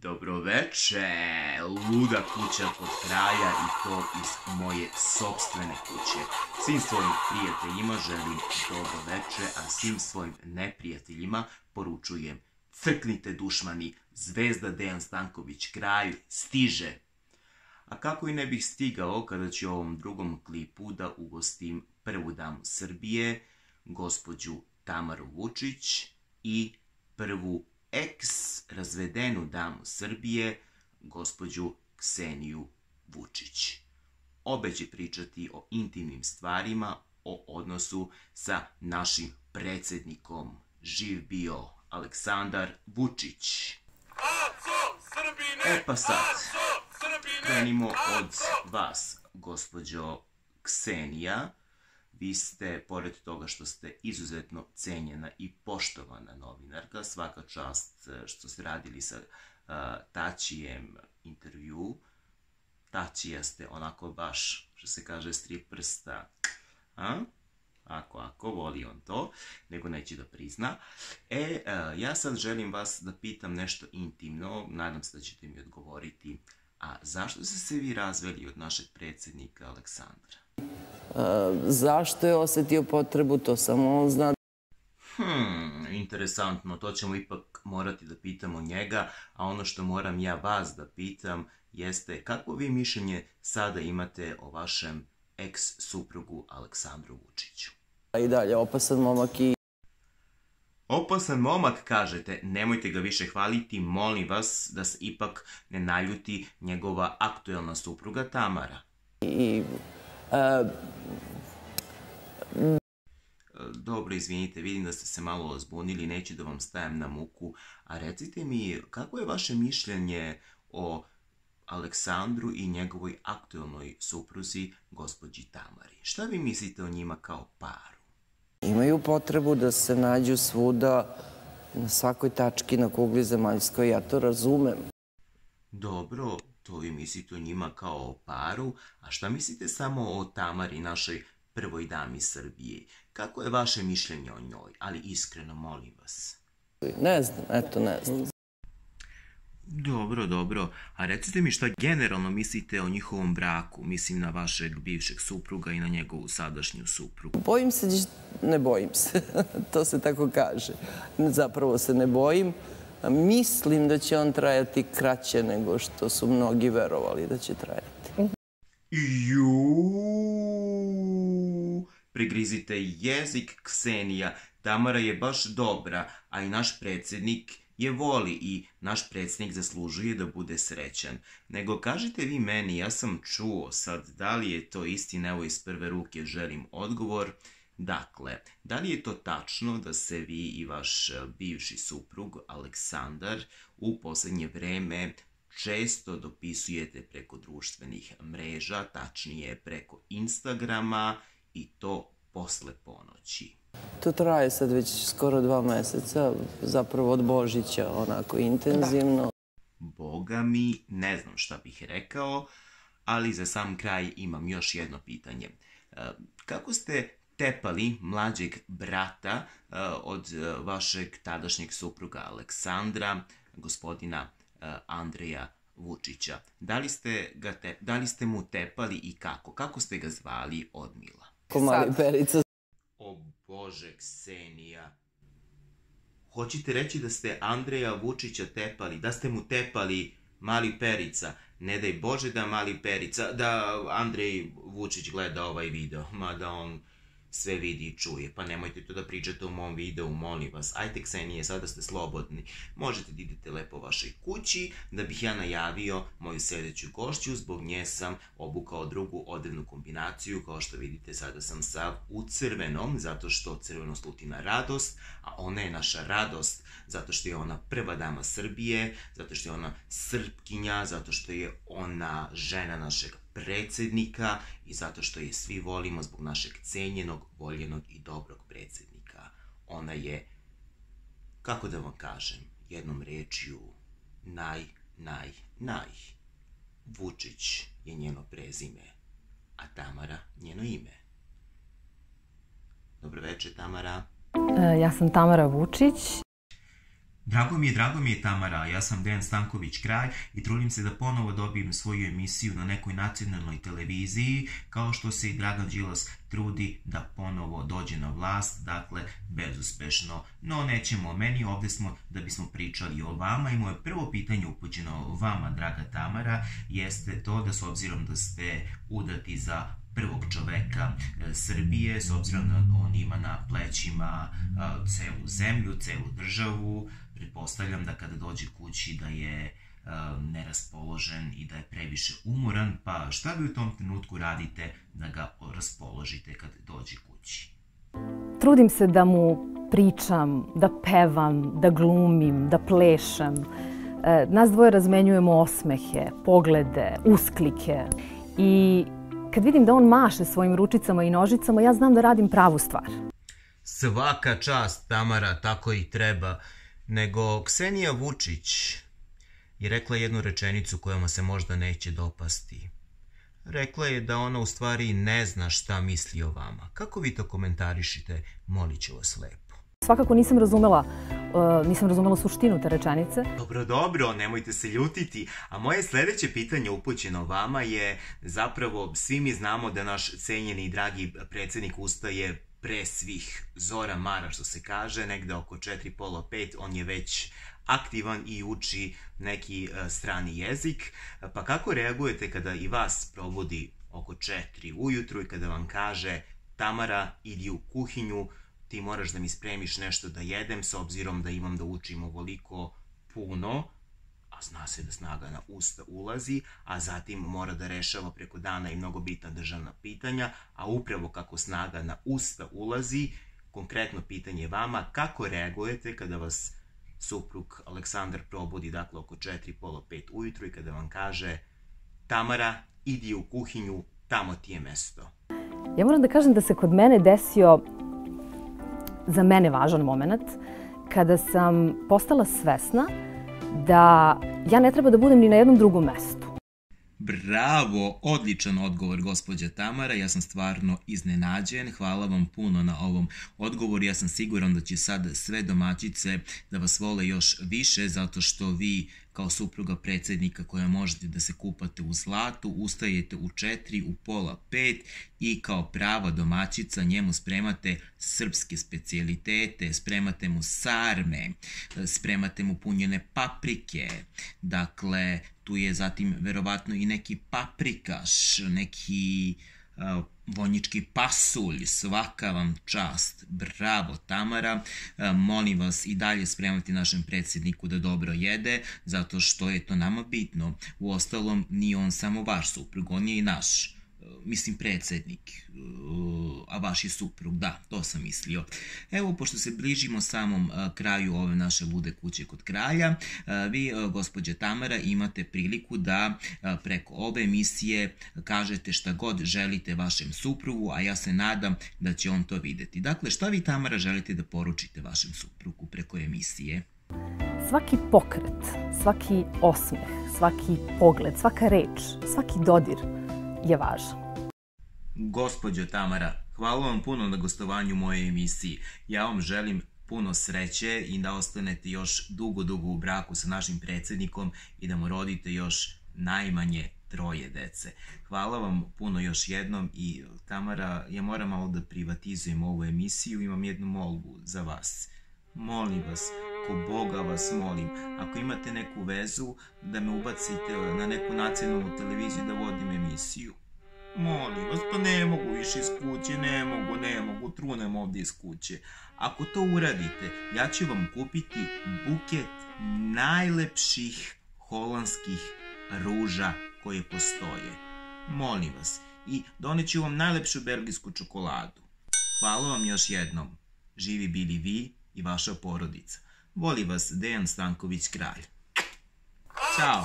Dobroveče, luda kuća kod kraja i to iz moje sopstvene kuće. Svim svojim prijateljima želim dobroveče, a svim svojim neprijateljima poručujem: crknite dušmani, zvezda Dejan Stanković kraj stiže. A kako i ne bih stigao kada ću u ovom drugom klipu da ugostim prvu damu Srbije, gospođu Tamaru Vučić, i prvu ex-razvedenu damu Srbije, gospođu Kseniju Vučić. Obe će pričati o intimnim stvarima, o odnosu sa našim predsjednikom. Živ bio Aleksandar Vučić. E pa sad, krenimo od vas, gospođo Ksenija. Vi ste, pored toga što ste izuzetno cenjena i poštovana novinarka, svaka čast što ste radili sa Tačijem intervju. Tačija ste onako baš, što se kaže, strip prsta. Ako voli on to, nego neće da prizna. Ja sad želim vas da pitam nešto intimno, nadam se da ćete mi odgovoriti. A zašto ste se vi razveli od našeg predsjednika Aleksandra? Zašto je osjetio potrebu, to samo on zna. Interesantno, to ćemo ipak morati da pitamo njega, a ono što moram ja vas da pitam jeste kakvo vi mišljenje sada imate o vašem ex-suprugu Aleksandru Vučiću? I dalje, opasan momak i... Opasan momak, kažete, nemojte ga više hvaliti, molim vas da se ipak ne naljuti njegova aktuelna supruga Tamara. Dobro, izvinite, vidim da ste se malo zbunili, neću da vam stajem na muku, a recite mi, kako je vaše mišljenje o Aleksandru i njegovoj aktuelnoj supruzi, gospođi Tamari? Šta vi mislite o njima kao paru? Imaju potrebu da se nađu svuda, na svakoj tački na kugli zemaljskoj, ja to razumem. Dobro, to vi mislite o njima kao o paru, a šta mislite samo o Tamari, našoj prvoj dami Srbije? Kako je vaše mišljenje o njoj? Ali iskreno, molim vas. Ne znam, eto ne znam. Dobro. A recite mi šta generalno mislite o njihovom braku? Mislim na vašeg bivšeg supruga i na njegovu sadašnju suprugu. Bojim se, ne bojim se. To se tako kaže. Zapravo se ne bojim. Mislim da će on trajati kraće nego što su mnogi verovali da će trajati. Prigrizite jezik, Ksenija. Tamara je baš dobra, a i naš predsjednik je voli i naš predsjednik zaslužuje da bude srećan. Nego kažite vi meni, ja sam čuo sad, da li je to istina, evo iz prve ruke želim odgovor. Dakle, da li je to tačno da se vi i vaš bivši suprug Aleksandar u posljednje vreme često dopisujete preko društvenih mreža, tačnije preko Instagrama, i to posle ponoći? To traje sad već skoro 2 meseca, zapravo od Božića, onako intenzivno. Boga mi, ne znam šta bih rekao, ali za sam kraj imam još jedno pitanje. Kako ste tepali mlađeg brata od vašeg tadašnjeg supruga Aleksandra, gospodina Andreja Vučića? Da li ste mu tepali i kako? Kako ste ga zvali odmila? Ko mali Perica. O Bože, Ksenija. Hoćete reći da ste Andreja Vučića tepali, da ste mu tepali mali Perica? Ne daj Bože da mali Perica, da Andrej Vučić gleda ovaj video, mada on sve vidi i čuje, pa nemojte to da pričate u mom videu, molim vas. Ajde, Ksenije, sada ste slobodni. Možete da idete lepo vašoj kući, da bih ja najavio moju sljedeću gošću. Zbog nje sam obukao drugu odevnu kombinaciju. Kao što vidite, sada sam sav u crvenom, zato što crveno sluti na radost, a ona je naša radost, zato što je ona prva dama Srbije, zato što je ona Srpkinja, zato što je ona žena našeg predsjednika i zato što je svi volimo zbog našeg cenjenog, voljenog i dobrog predsjednika. Ona je, kako da vam kažem, jednom rečju, naj. Vučić je njeno prezime, a Tamara njeno ime. Dobro večer, Tamara. Ja sam Tamara Vučić. Drago mi je Tamara, ja sam Dejan Stanković Kralj i trudim se da ponovo dobijem svoju emisiju na nekoj nacionalnoj televiziji, kao što se i Dragan Đilas trudi da ponovo dođe na vlast, dakle bezuspešno. No nećemo o meni, ovdje smo da bismo pričali o vama i moje prvo pitanje upućeno vama, draga Tamara, jeste to da s obzirom da ste udati za prvog čoveka Srbije, s obzirom da on ima na plećima celu zemlju, celu državu, pretpostavljam da kada dođe kući da je neraspoložen i da je previše umoran, pa šta vi u tom trenutku radite da ga raspoložite kad dođe kući? Trudim se da mu pričam, da pevam, da glumim, da plešem. Nas dvoje razmenjujemo osmehe, poglede, usklike i kad vidim da on maše svojim ručicama i nožicama, ja znam da radim pravu stvar. Svaka čast, Tamara, tako i treba. Nego Ksenija Vučić je rekla jednu rečenicu koja mu se možda neće dopasti. Rekla je da ona u stvari ne zna šta misli o vama. Kako vi to komentarišite, molit ću vas lepo. Svakako nisam razumela suštinu te rečenice. Dobro, nemojte se ljutiti. A moje sljedeće pitanje upućeno vama je, zapravo svi mi znamo da naš cenjeni i dragi predsjednik ustaje pre svih zora mara, što se kaže, negde oko 4, pola 5, on je već aktivan i uči neki strani jezik. Pa kako reagujete kada i vas probudi oko 4 ujutru i kada vam kaže: Tamara, idi u kuhinju, ti moraš da mi spremiš nešto da jedem, s obzirom da imam da učim ovoliko puno, a zna se da snaga na usta ulazi, a zatim mora da rešava preko dana i mnogo bitna državna pitanja, a upravo kako snaga na usta ulazi, konkretno pitanje vama, kako reagujete kada vas suprug Aleksandar probudi, dakle oko 4, pola 5 ujutru i kada vam kaže: Tamara, idi u kuhinju, tamo ti je mesto? Ja moram da kažem da se kod mene desio za mene važan moment kada sam postala svesna da ja ne treba da budem ni na jednom drugom mestu. Bravo, odličan odgovor, gospođa Tamara, ja sam stvarno iznenađen, hvala vam puno na ovom odgovoru, ja sam siguran da će sad sve domaćice da vas vole još više, zato što vi kao supruga predsjednika koja možete da se kupate u zlatu, ustajete u 4, u pola 5 i kao prava domaćica njemu spremate srpske specijalitete, spremate mu sarme, spremate mu punjene paprike, dakle tu je zatim verovatno i neki paprikaš, neki vonjički pasulj, svaka vam čast, bravo Tamara, molim vas i dalje spremati našem predsjedniku da dobro jede, zato što je to nama bitno, uostalom nije on samo vaš suprug, on je i naš, mislim predsjednik, a vaš je suprug, da, to sam mislio. Evo, pošto se bližimo samom kraju ove naše lude kuće kod kralja, vi, gospođa Tamara, imate priliku da preko ove emisije kažete šta god želite vašem suprugu, a ja se nadam da će on to vidjeti. Dakle, šta vi, Tamara, želite da poručite vašem suprugu preko emisije? Svaki pokret, svaki osmeh, svaki pogled, svaka reč, svaki dodir je važan. Gospođo Tamara, hvala vam puno na gostovanju u mojoj emisiji. Ja vam želim puno sreće i da ostanete još dugo u braku sa našim predsjednikom i da mu rodite još najmanje 3 dece. Hvala vam puno još jednom i Tamara, ja moram malo da privatizujem ovu emisiju, imam jednu molbu za vas. Molim vas, ko Boga vas molim, ako imate neku vezu, da me ubacite na neku nacionalnu televiziju da vodim emisiju. Molim vas, pa ne mogu više iz kuće, ne mogu, trunem ovdje iz kuće. Ako to uradite, ja ću vam kupiti buket najlepših holandskih ruža koje postoje. Molim vas, i doneću vam najlepšu belgijsku čokoladu. Hvala vam još jednom. Živi bili vi i vaša porodica. Voli vas Dejan Stanković Kralj. Ćao!